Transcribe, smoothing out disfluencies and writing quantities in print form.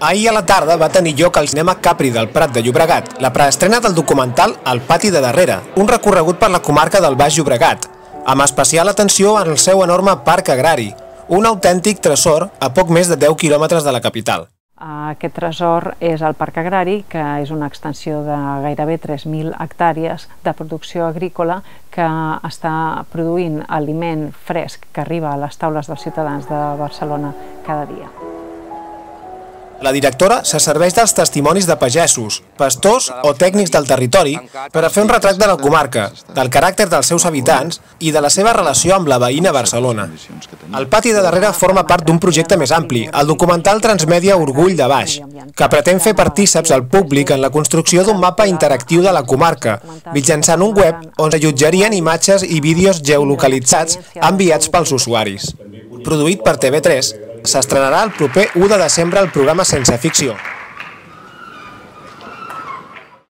Ahir a la tarda va tenir lloc al Cinema Capri del Prat de Llobregat la preestrena del documental El pati de darrere, un recorregut per la comarca del Baix Llobregat, amb especial atenció en el seu enorme parc agrari, un autèntic tresor a poc més de 10 quilòmetres de la capital. Aquest tresor és el parc agrari, que és una extensió de gairebé 3.000 hectàrees de producció agrícola que està produint aliment fresc que arriba a les taules dels ciutadans de Barcelona cada dia. La directora se serveix dels testimonis de pagesos, pastors o tècnics del territori per a fer un retrat de la comarca, del caràcter dels seus habitants i de la seva relació amb la veïna Barcelona. El pati de darrere forma part d'un projecte més ampli, el documental Transmèdia Orgull de Baix, que pretén fer partíceps al públic en la construcció d'un mapa interactiu de la comarca, mitjançant un web on s'allotjarien imatges i vídeos geolocalitzats enviats pels usuaris. Produït per TV3, s'estrenarà el proper 1 de desembre el programa Sense Ficció.